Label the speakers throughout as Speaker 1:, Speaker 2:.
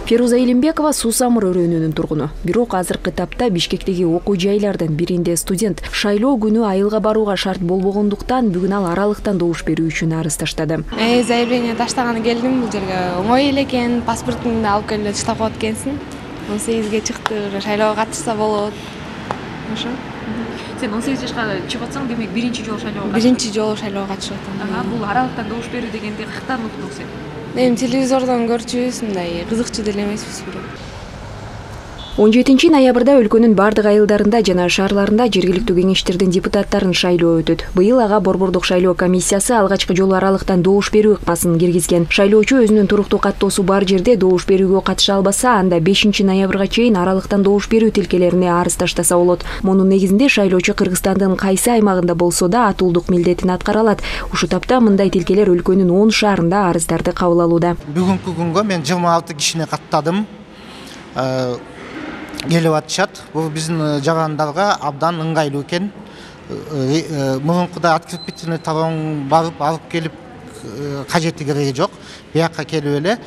Speaker 1: Фируза Илимбекова Сусамыр өрөөнүнүн тургуну. Бирок азыркы тапта Бишкектеги окуу жайлардын биринде студент шайлоо күнү айылга барууга шарт болбогондуктан бүгүн ал аралыктан добуш берүү үчүн арыз таштады.
Speaker 2: Заявление таштаганы келдим, бул жерге оңой эле экен, паспортуңду алып келип таштап коет экенсиң. 18ге чыкты, шайлоого катышса болот. Ошо.
Speaker 1: Сен 18 жашка чыгып атсаң, демек биринчи жолу шайлоого катышып.
Speaker 2: Биринчи жолу шайлоого катышып атам.
Speaker 1: Бул аралыктан добуш берүү дегенди каяктан уктуң сен?
Speaker 2: Эми телевизордон көрчүбүз, мындай кызыкчу деле эмеспиз бирок.
Speaker 1: 17 ноябрда өлкөнүн бардык айылдарында жана шаарларында жергиликтүү кеңештердин депутаттарын шайлоо өтөт. Быйыл ага борбордук шайлоо комиссиясы алгачкы жолу аралыктан добуш берүү ыкмасын киргизген. Шайлоочу өзүнүн туруктуу каттоосу бар жерде добуш берүүгө катыша албаса, анда 5 ноябрга чейин аралыктан добуш берүү тилкелерине арыз таштаса болот. Мунун негизинде шайлоочу Кыргызстандын кайсы аймагында болсо да атуулдук милдетин аткара алат. Ушул тапта мындай тилкелер өлкөнүн 10 шаарында арыздарды кабыл алууда.
Speaker 3: Бүгүнкү күнгө мен 26 кишини каттадым. Келип атышат. Бул биздин жарандарга абдан ыңгайлуу экен. Мурункуда открепительный талон барып алып келип кажети кереги жок. Буякка келип эле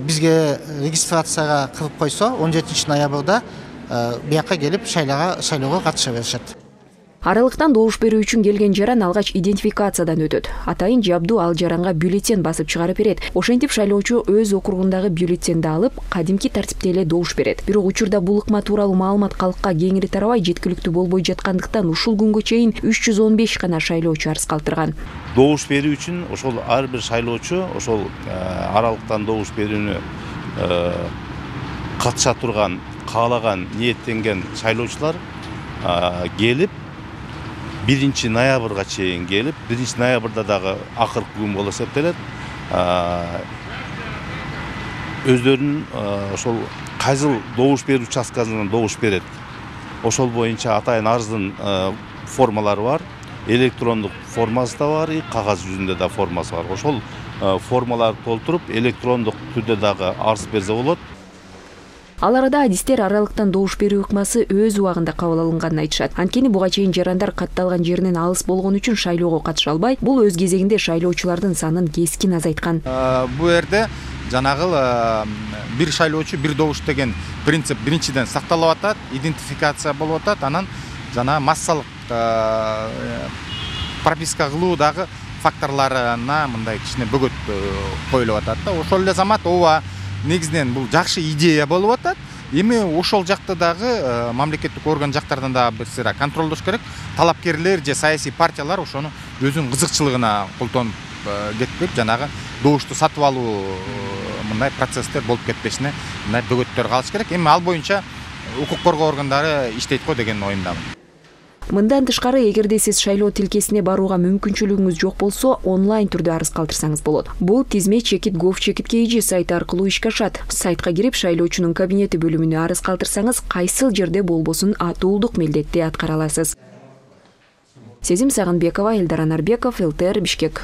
Speaker 3: бизге регистрацияга кырып койсо 17 ноябрда буякка келип шайлоого катыша беришет.
Speaker 1: Аралыктан добуш берүү үчүн келген жаран алгач идентификациядан өтөт. Атайын жабдуу ал жаранга бюллетень басып чыгарып берет. Ошентип шайлоочу өз округундагы бюллетенди алып, кадимки тартипте эле добуш берет. Бирок учурда бул ыкма тууралуу маалымат калкка кеңири тарабай, жеткиликтүү болбой жаткандыктан ушул күнгө чейин 315 гана шайлоочу арыз калтырган.
Speaker 4: Добуш берүү үчүн ошол ар бир шайлоочу ошол аралыктан добуш берүүнү катыша турган, каалаган, ниеттенген шайлоочулар келип 1 ноябрга чейин келип, 1 ноябрда дагы акыркы күн болуп эсептелет. Өздөрүнүн ошол кайсыл добуш берүү участкасынан добуш берет. Ошол боюнча атайын арыздын формалары бар. Электрондук формасы да бар, кагаз жүзүндө да формасы бар. Ошол формаларды толтуруп, электрондук түрдө дагы арыз берсе болот.
Speaker 1: Ал арада адистер аралыктан добуш берүү ыкмасы өз убагында кабыл алынганын айтышат. Анткени буга чейин жарандар катталган жеринен алыс болгон үчүн шайлоого катыша албай, бул өз кезегинде шайлоочулардын санын кескин азайткан.
Speaker 5: Бул жерде жанагы бир шайлоочу бир добуш деген принцип биринчиден сакталып атат, идентификация болуп атат, анан жана массалык прописка кылуу дагы факторлоруна мындай кичине бөгөт коюлуп атат да. Ошол эле замат ооба негизинен бул жакшы идея болуп атат. Эми ошол жакта дагы мамлекеттик орган жактардан да бир сыйра контролдош керек. Талапкерлер же саясий партиялар ошону өзүнүн кызыкчылыгына колтонуп кетпеп, жанагы добушту сатып алуу мындай процесстер болуп кетпешине мындай бөгөттөр калыш керек. Эми ал боюнча укук коргоо органдары иштейт го деген оюндамын.
Speaker 1: Мындан тышкары, эгерде сиз шайлоо тилкесине барууга мүмкүнчүлүгүңүз жок болсо, онлайн түрдө арыз калтырсаңыз болот. Бул тизме chekit.gov.kg сайты аркылуу ишке ашат. Сайтка кирип, шайлоочунун кабинети бөлүмүнө арыз калтырсаңыз, кайсыл жерде болбосун атуулдук милдетти аткара аласыз. Сезим Сагынбекова, Элдар Анарбеков, ЛТР, Бишкек.